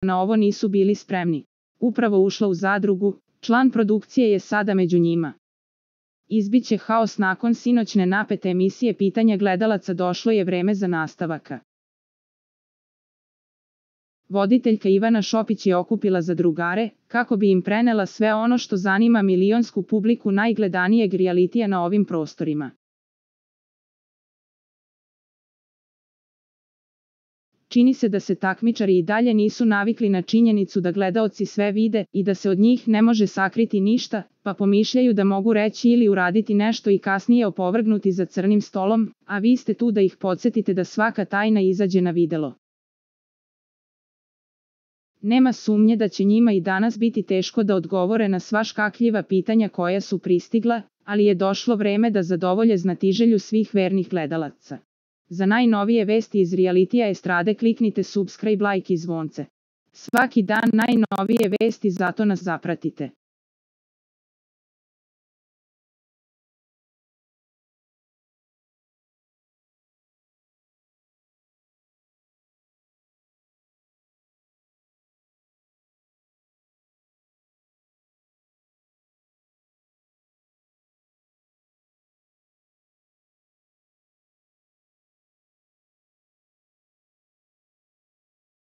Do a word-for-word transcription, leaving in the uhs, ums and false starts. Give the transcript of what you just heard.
na ovo nisu bili spremni. Upravo ušla u zadrugu, član produkcije je sada među njima. Izbiće haos nakon sinoćne napete emisije Pitanja gledalaca, došlo je vreme za nastavaka. Voditeljka Ivana Šopić je okupila zadrugare, kako bi im prenela sve ono što zanima milionsku publiku najgledanijeg rijalitija na ovim prostorima. Čini se da se takmičari i dalje nisu navikli na činjenicu da gledaoci sve vide i da se od njih ne može sakriti ništa, pa pomišljaju da mogu reći ili uraditi nešto i kasnije opovrgnuti za crnim stolom, a vi ste tu da ih podsjetite da svaka tajna izađe na videlo. Nema sumnje da će njima i danas biti teško da odgovore na sva škakljiva pitanja koja su pristigla, ali je došlo vreme da zadovolje znatiželju svih vernih gledalaca. Za najnovije vesti iz realitija estrade kliknite subscribe, like i zvonce. Svaki dan najnovije vesti, zato nas zapratite.